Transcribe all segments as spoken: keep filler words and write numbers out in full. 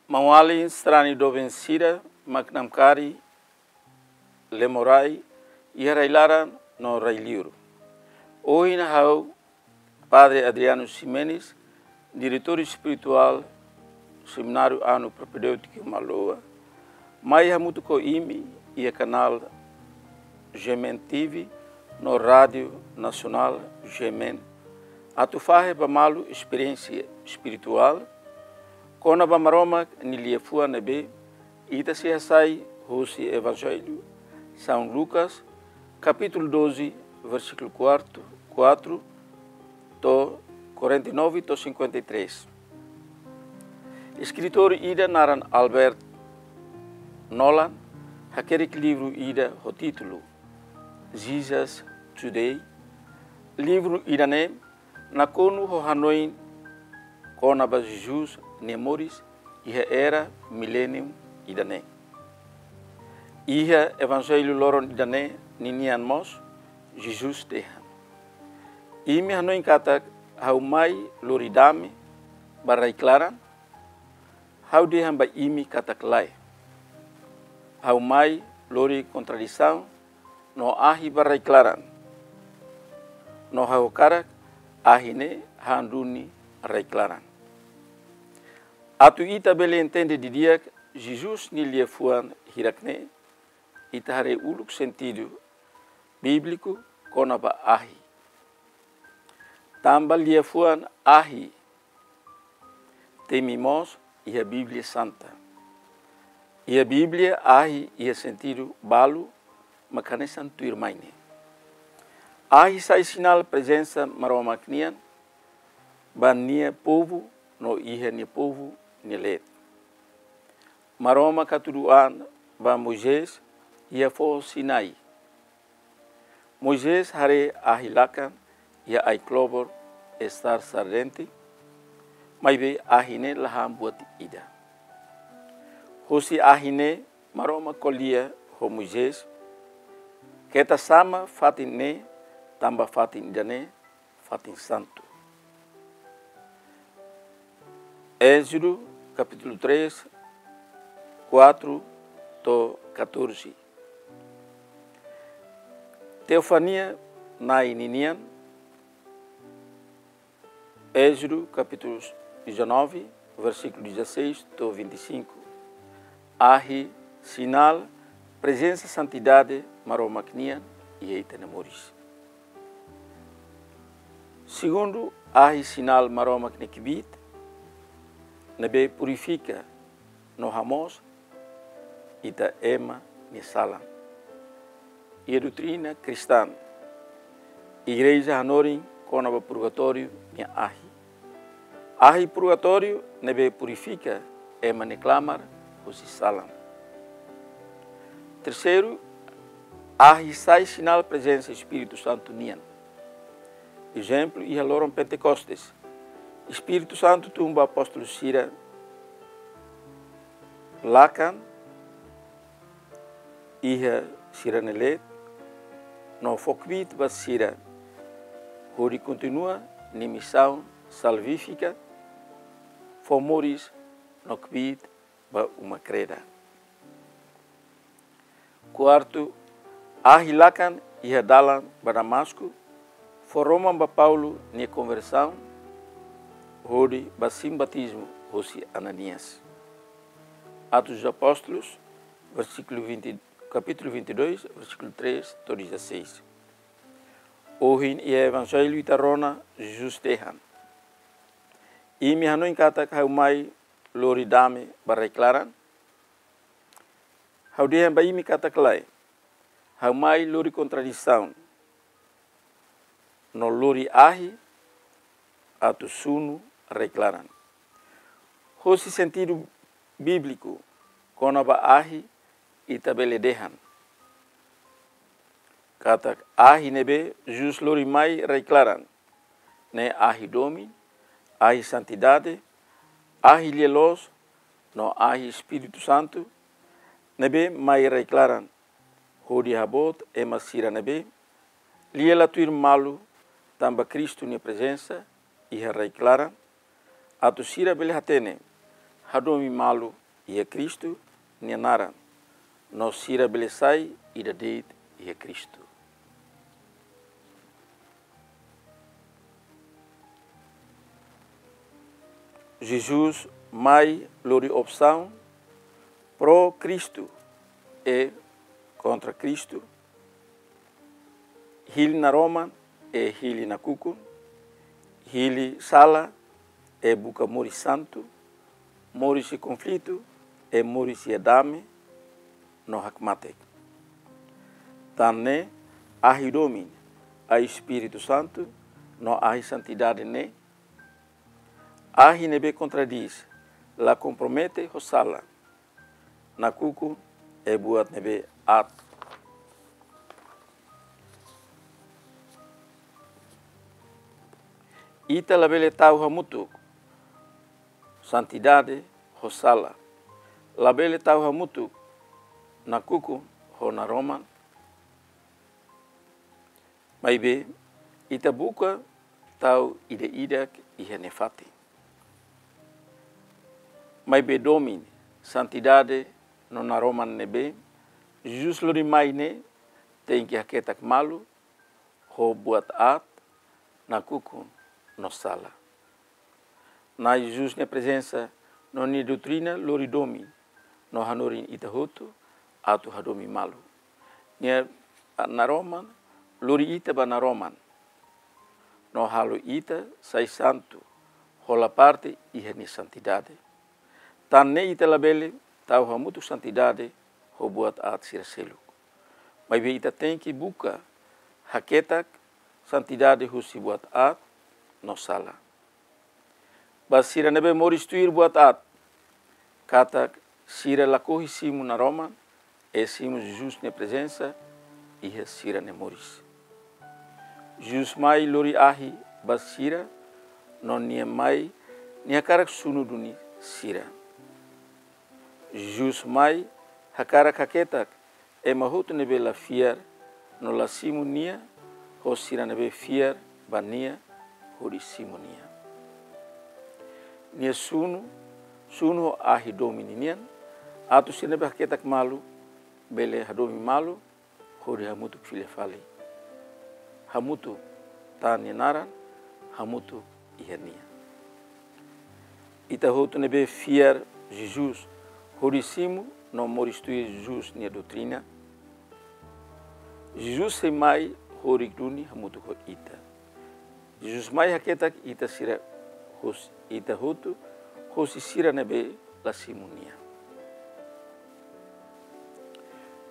Maun-alin sarani doben sira mak namkari, lemorai iha rai-laran no rai-liur. Ohin ha'u Padre Adriano Ximenes, diretór espirituál Semináriu Anu Propedêutiku Maloa, mai hamutuk ho imi iha kanál G M N T V no Rádiu Nasionál G M N, atu fahe ba malu esperiénsia espirituál kona-ba Maromak nia liafuan ne'ebé ita sei hasai hosi Evanjellu São Lucas, kapítulu doze, versíkulu quatro, quatro, to'o quarenta e nove to'o cinquenta e três. Eskritór ida naran Albert Nolan hakerek livru ida ho títulu Jesus Today. Livru ida-ne'e nakonu ho hanoin kona-ba Jesus nia moris iha era miléniu ida-ne'e. Iha Evanjellu loron ida-ne'e ninian mós Jesus dehan: Imi hanoin katak ha'u mai lori dame ba rai-klaran? Ha'u dehan ba imi katak lae. Ha'u mai lori kontradisaun no ahi ba rai-klaran. No ha'u hakarak ahi ne'e han duni rai-klaran. Atu ita bele entende didi'ak Jesus nia liafuan hirak-ne'e, ita haree uluk sentidu bíbliku kona-ba ahi. Tanba liafuan ahi temi mós iha Bíblia Santa. Iha Bíblia, ahi iha sentidu balu mak hanesan tuirmai ne'e. Ahi sai sinál prezensa Maromak nian ba nia povu no iha nia povu nia leet. Maromak hatudu an ba Moisés iha foho Sinai. Moisés haree ahi lakan iha ai-klobor Estar Sardente, maibé ahi ne'e la han buat ida. Hosi ahi ne'e Maromak ko'alia ho Moisés: Keta xama fatin ne'e, tanba fatin ida-ne'e fatin santu. Ézodu, kapítulu três, quatro to'o catorze. Teofania Nai ninian, Ézodu, kapítulu dezanove, versíkulu dezasseis to'o vinte e cinco. Ahi sinál prezensa santidade Maromak nian iha ita-nia moris. Segundu, ahi sinál Maromak nia kbiit ne'ebé purifika no hamoos ita ema nia salan. Iha doutrina kristaun, Igreja hanorin kona-ba purgatóriu nia ahi. Ahi purgatóriu ne'ebé purifika ema nia klamar hosi salan. Terseiru, ahi sai sinál prezensa Espíritu Santu nian. Ezemplu, iha loron Pentekostes, Espíritu Santu tun ba apóstolu sira lakan iha sira-nia leet, no fó kbiit ba sira hodi kontinua nia misaun salvífika, fó moris no kbiit ba uma kreda. Kuartu, ahi lakan iha dalan ba Damasku fó roman ba Paulo nia konversaun hodi ba simu batizmu hosi Ananias. Atos dos Apóstolos, versíkulu vinte, kapítulu vinte e dois, versíkulu três to'o dezasseis. Ohin iha Evanjellu ita rona Jesus dehan: Imi hanoin katak ha'u mai lori dame ba rai-klaran? Ha'u dehan ba imi katak lae. Ha'u mai lori kontradisaun no lori ahi atu sunu rai-klaran. Hosi sentidu bíbliku kona-ba ahi, ita bele dehan katak ahi ne'ebé Jesus lori mai rai-klaran ne'e ahi domin, ahi santidade, ahi lia-loos no ahi Espíritu Santu ne'ebé mai rai-klaran hodi haboot ema sira ne'ebé lia la tuir malu tanba Kristu nia prezensa iha rai-klaran, atu sira bele hatene hadomi malu iha Kristu nia naran, no sira bele sai ida de'it iha Kristu. Jesus mai lori opsaun pró-Kristu e kontra Kristu, hili naroman e hili nakukun, hili sala e buka moris santu, moris iha konflitu e moris iha dame no hakmatek. Tan ne'e, ahi domin, ahi Espíritu Santu no ahi santidade ne'e, ahi ne'ebé kontradís, la kompromete ho sala, nakukun e buat ne'ebé aat. Ita labele tau hamutuk santidade ho sala, labele tau hamutuk nakukun ho naroman. Maibé, ita buka tau ida-idak iha nia fatin. Maibé domin, santidade no naroman ne'ebé Jesus lori mai ne'e tenke haketak malu ho buat aat, nakukun no sala. Na'i Jesus nia prezensa no nia doutrina lori domin no hanorin ita hotu atu hadomi malu. Nia naroman lori ita ba naroman no halo ita sai santu, hola parte iha nia santidade. Tan ne'e ita labele tau hamutuk santidade ho buat aat sira seluk. Maibé ita tenke buka haketak santidade husi buat aat no sala. Ba sira ne'ebé moris tuir buat aat, katak sira lakohi simu naroman, e simu Jesus nia prezensa iha sira-nia moris. Jesus mai lori ahi ba sira, no nia mai, nia hakarak sunu duni sira. Jesus mai hakarak haketak ema hotu ne'ebé la fiar no la simu nia, ho sira ne'ebé fiar ba nia hodi simu nia. Nia sunu, sunu ho ahi domin ninian, atu sira ne'ebé haketak malu bele hadomi malu, hodi hamutuk fila fali. Hamutuk tan nia naran, hamutuk iha nia. Ita hotu ne'ebé fiar Jesus, hodi simu no moris tuir Jesus nia doutrina. Jesus sei mai horik duni hamutuk ho ita. Jesus mai haketak ita sira hos-, ita hotu, hosi sira ne'ebé la simu nia.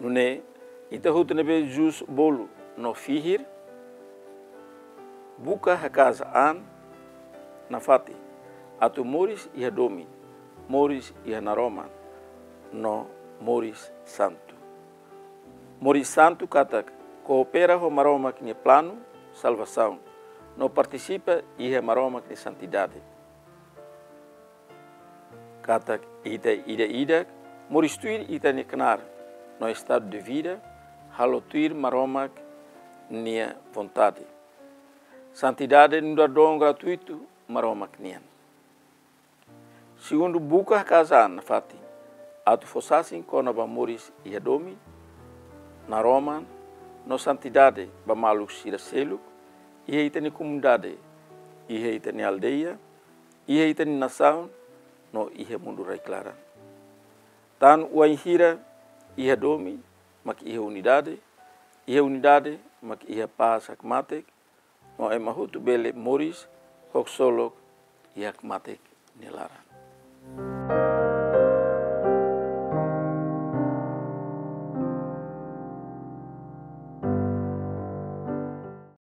Nune'e, ita hotu ne'ebé Jesus bolu no fihir, buka haka'as an nafatin, atu moris iha domin, moris iha naroman, no moris santu. Moris santu katak koopera ho Maromak nia planu salvasaun, no partisipa iha Maromak nia santidade. Katak ita ida-idak moris tuir ita-nia knaar no estadu de vida, halo tuir Maromak nia vontade. Santidade nu'udar don gratuitu Maromak nian. Segundu, buka haka'as an nafatin, atu fó sasin kona-ba moris iha domin, naroman, no santidade ba maluk sira seluk, iha ita-nia komunidade, iha ita-nia aldeia, iha ita-nia nasaun, no iha mundu rai-klaran. Tan wainhira iha domin mak iha unidade, iha unidade mak iha pás hakmatek, no ema hotu bele moris ho ksolok iha hakmatek nia laran.